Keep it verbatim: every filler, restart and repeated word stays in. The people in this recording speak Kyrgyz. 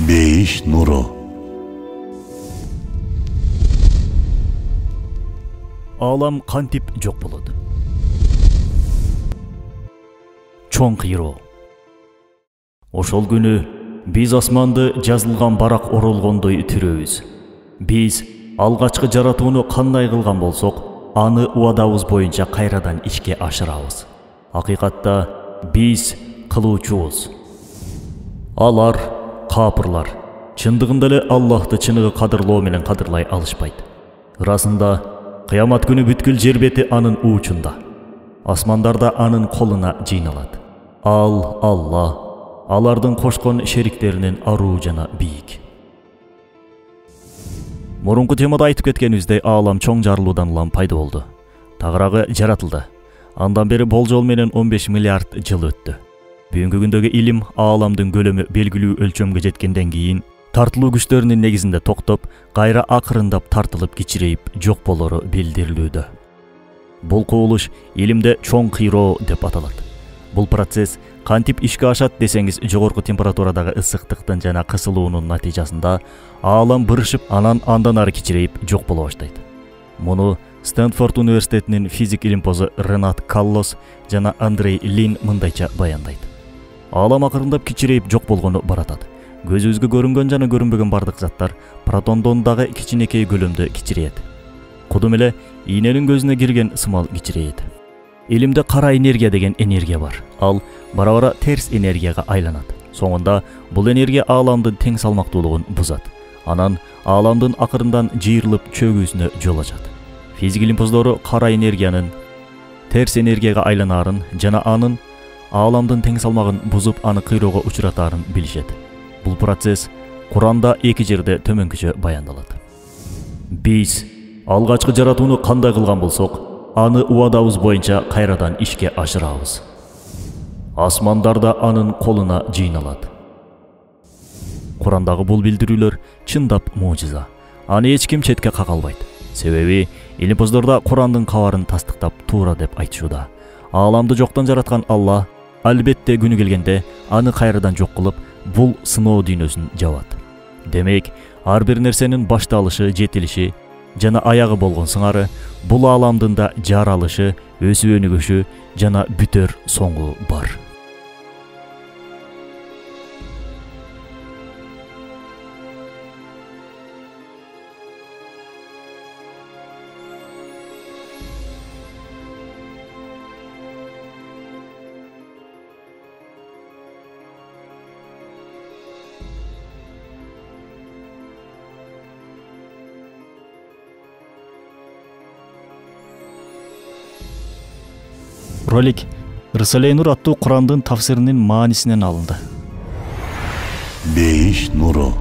Бейиш нуру. Алам кантип жок болот? Чоң кыйроо. Ошол күнү биз асманды жазылган барак оролгондой түрөбүз. Биз алгачкы жаратууну кандай кылган болсок, аны убадабыз боюнча кайрадан ишке ашырабыз. Акыйкатта биз кылуучубуз. Алар капырлар чындыгында эле Аллахты чыныгы кадырлоо менен кадырлай алышпайт. Ырасында кыямат күнү бүткүл жер бети анын уучунда, асмандарда анын колуна жыйналат. Ал Алла, алардын кошкон шериктеринен аруу жана бийик. Мурунку темада айтып кеткенибиздей, аалам чоң жарылуудан улам пайда болду. Тагыраагы жаратылды. Андан бери болжол менен он беш миллиард жыл өттү. Бүгүнкү күндөгү илим ааламдын көлөмү белгилүү өлчөмгө жеткенден кийин тартылуу күчтөрүнүн негизинде токтоп, кайра акырындап тартылып кичирейип жок болору билдирилүүдө. Бул кубулуш илимде чоң кыйроо деп аталат. Бул процесс кантип ишке ашат десеңиз, жогорку температурадагы ысыктыктын жана кысылуунун натыйжасында аалам бырышып, анан андан ары кичирейип жок боло баштайт. Муну Стэнфорд университетинин физик илимпозу Ренат Каллос жана Андрей Лин мындайча баяндайт. Аалам акырындап кичирейип жок болгону баратат. Көзүбүзгө көрүнгөн жана көрүнбөгөн бардык заттар протондон дагы кичинекей көлөмдө кичирейет. Кудум эле ийненин көзүнө кирген сымал кичирейет. Илимде кара энергия деген энергия бар. Ал бара-бара терс энергияга айланат. Соңунда бул энергия ааламдын тең салмактуулугун бузат. Анан ааламдын акырындан жыйрылып чөгүүсүнө жол ачат. Физик илимпоздору кара энергиянын терс энергияга айланаарын жана анын ааламдын тең салмагын бузуп, аны кыйроого учуратаарын билишет. Бул процесс Куранда эки жерде төмөнкүчө баяндалат. Биз алгачкы жаратууну кандай кылган болсок, аны убадабыз боюнча кайрадан ишке ашырабыз. Асмандарда анын колуна жыйналат. Курандагы бул билдирүүлөр чындап мужиза. Аны эч ким четке кага албайт. Себеби илимпоздорда Курандын кабарын тастыктап туура деп айтышууда. Ааламды жоктон жараткан Алла албетте күнү келгенде аны кайрадан жок кылып, бул сыноо дүйнөсүн жабат. Демек, ар бир нерсенин башталышы, жетилиши жана аягы болгон сыңары бул ааламдын да жаралышы, өсүп өнүгүшү жана бүтөр соңу бар. Ролик Рисале-и Нур аттуу Курандын тафсиринин маанисинен алынды. Бейиш нуру.